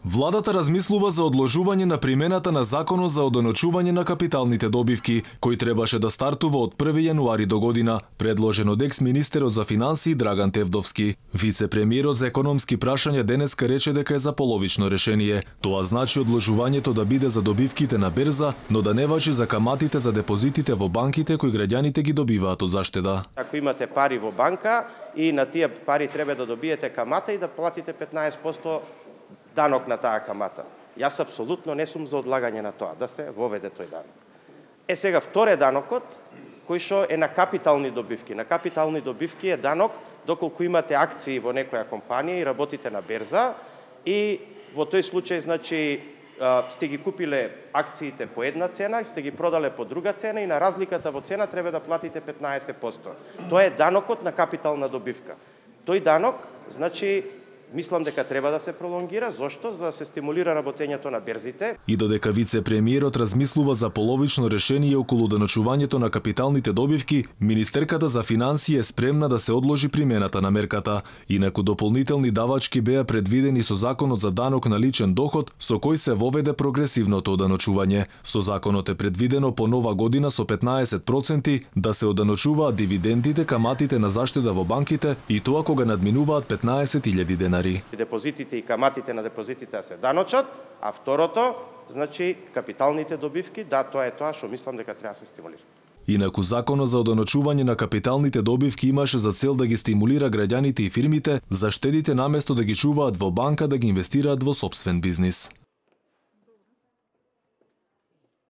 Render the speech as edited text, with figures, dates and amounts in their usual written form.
Владата размислува за одложување на примената на Законот за одоночување на капиталните добивки, кој требаше да стартува од 1 јануари до година, предложен од екс-министерот за финансии Драган Тевдовски. Вице-премиерот за економски прашања денеска рече дека е за половично решение. Тоа значи одложувањето да биде за добивките на берза, но да не важи за каматите за депозитите во банките кои граѓаните ги добиваат од заштеда. Ако имате пари во банка и на тие пари треба да добиете камата и да платите 15% данок на таа камата. Јас апсолутно не сум за одлагање на тоа, да се воведе тој данок. Сега вторе данокот, кој што е на капитални добивки. На капитални добивки е данок доколку имате акции во некоја компанија и работите на берза и во тој случај, значи, сте ги купиле акциите по една цена, сте ги продале по друга цена и на разликата во цена треба да платите 15%. Тоа е данокот на капитална добивка. Тој данок, значи, мислам дека треба да се пролонгира. Зошто? За да се стимулира работењето на берзите. И додека вице-премиерот размислува за половично решение околу доночувањето на капиталните добивки, министерката за финансии е спремна да се одложи примената на мерката. Инаку дополнителни давачки беа предвидени со Законот за данок на личен доход, со кој се воведе прогресивното одоночување. Со законот е предвидено по нова година со 15% да се одоночуваат дивидендите, каматите на заштеда во банките и тоа кога надминуваат 15.000 денари. Депозитите и каматите на депозитите се даночат, а второто, значи капиталните добивки, да, тоа е тоа што мислам дека треба да се стимулира. Инаку Законот за одоночување на капиталните добивки имаше за цел да ги стимулира граѓаните и фирмите за штедите наместо да ги чуваат во банка да ги инвестираат во сопствен бизнис.